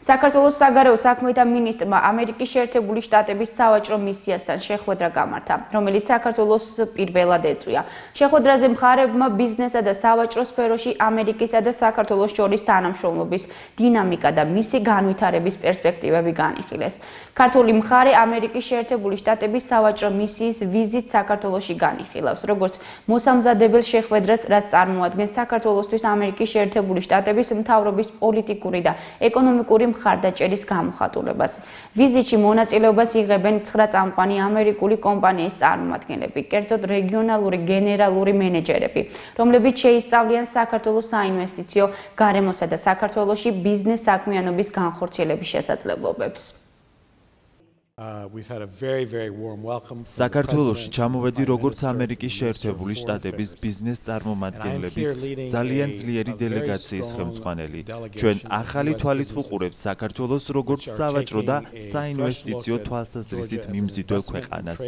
საქართველოს საგარეო საქმეთა მინისტრმა ამერიკის შეერთებული შტატების სავაჭრო მისიასთან შეხვედრა გამართა, რომელიც საქართველოს პირველად ეწვია. შეხვედრაზე მხარეებმა ბიზნესსა და სავაჭრო სფეროში ამერიკისა და საქართველოს შორის თანამშრომლობის დინამიკა და მისი განვითარების პერსპექტივები განიხილეს. ქართული მხარე ამერიკის შეერთებული შტატების სავაჭრო მისიის ვიზიტს საქართველოში განიხილავს, როგორც მოსამზადებელ შეხვედრას, რაც წარმოადგენს საქართველოსთვის ამერიკის შეერთებული შტატების მთავრობის პოლიტიკური და ეკონომიკური მხარდაჭერის გამოხატულებას. ვიზიტში მონაწილეობას იღებენ 9 წამყვანი ამერიკული კომპანიის წარმომადგენლები, კერძოდ რეგიონალური გენერალური მენეჯერები, რომლებიც შეისწავლიან საქართველოს საინვესტიციო, გარემოსა და საქართველოში ბიზნეს საქმიანობის განხორციელების შესაძლებლობებს. საქართველოში ჩამოვედი როგორც ამერიკის შეერთებული შტატების ბიზნეს წარმომადგენლების ძალიან ძლიერი დელეგაციის ხელმძღვანელი. ჩვენ ახალი თვალით ვუყურებთ საქართველოს როგორც სავაჭრო და საინვესტიციო თვალსაზრისით მიმზიდველ ქვეყანას.